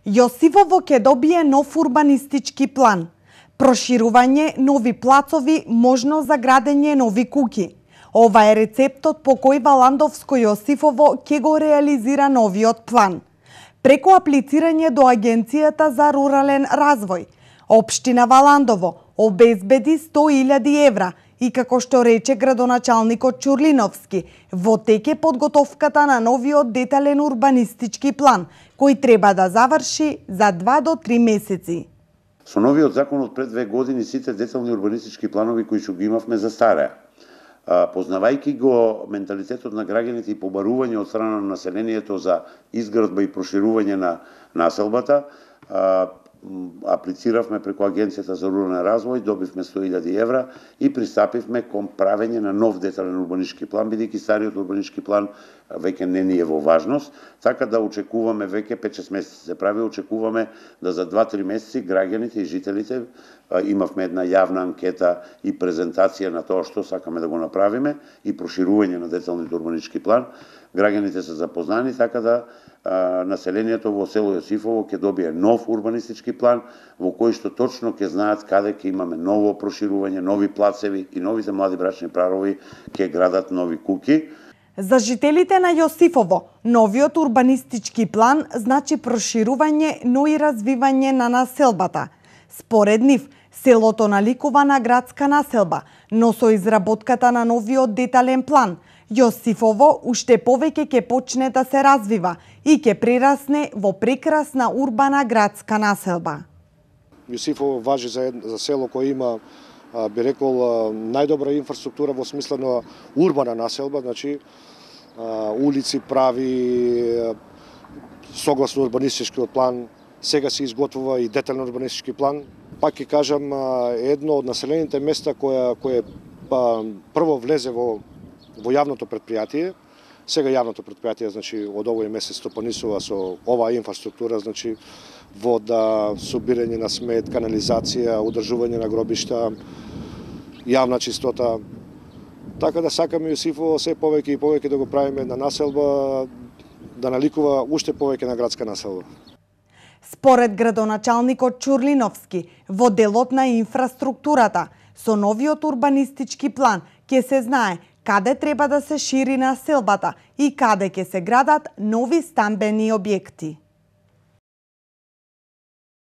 Јосифово ќе добие нов урбанистички план. Проширување, нови плацови, можност за градење нови куќи. Ова е рецептот по кој Валандовско Јосифово ќе го реализира новиот план. Преку аплицирање до Агенцијата за рурален развој, Општина Валандово обезбеди 100.000 евра и, како што рече градоначалникот Чурлиновски, во тек е подготовката на новиот детален урбанистички план, кој треба да заврши за 2 до 3 месеци. Со новиот закон од пред 2 години сите детални урбанистички планови кои што ги имавме застараа. Познавајќи го менталитетот на граѓаните и побарување од страна на населението за изградба и проширување на населбата, аплициравме преку Агенцијата за рурален развој, добивме 100.000 евра и пристапивме кон правење на нов детален урбанистички план, бидејќи стариот урбанистички план веќе не ни е во важност, така да очекуваме веќе 5-6 месеци се прави, очекуваме да за 2-3 месеци граѓаните и жителите, имавме една јавна анкета и презентација на тоа што сакаме да го направиме и проширување на деталниот урбанистички план, граѓаните се запознани, така да населението во село Јосифово ќе добие нов урбанистички план во кој што точно ќе знаат каде ќе имаме ново проширување, нови плацеви и новите млади брачни парови ќе градат нови куќи. За жителите на Јосифово, новиот урбанистички план значи проширување, но и развивање на населбата. Според нив, селото наликува на градска населба, но со изработката на новиот детален план, Јосифово уште повеќе ќе почне да се развива и ќе прерасне во прекрасна урбана градска населба. Јосифово важи за село кој има, би рекол, најдобра инфраструктура во смисла на урбана населба, значи улици прави, согласно урбанистичкиот план, сега се изготвува и детален урбанистички план. Пак ќе кажам, едно од населените места кое прво влезе во јавното предпријатие. Сега јавното предпријатие, значи, од овој месец стопанисува со оваа инфраструктура, значи, вода, собирање на смет, канализација, одржување на гробишта, јавна чистота. Така да сакаме Јосифово се повеќе и повеќе да го правиме на населба, да наликува уште повеќе на градска населба. Според градоначалникот Чурлиновски, во делот на инфраструктурата, со новиот урбанистички план ќе се знае каде треба да се шири населбата и каде ќе се градат нови стамбени објекти.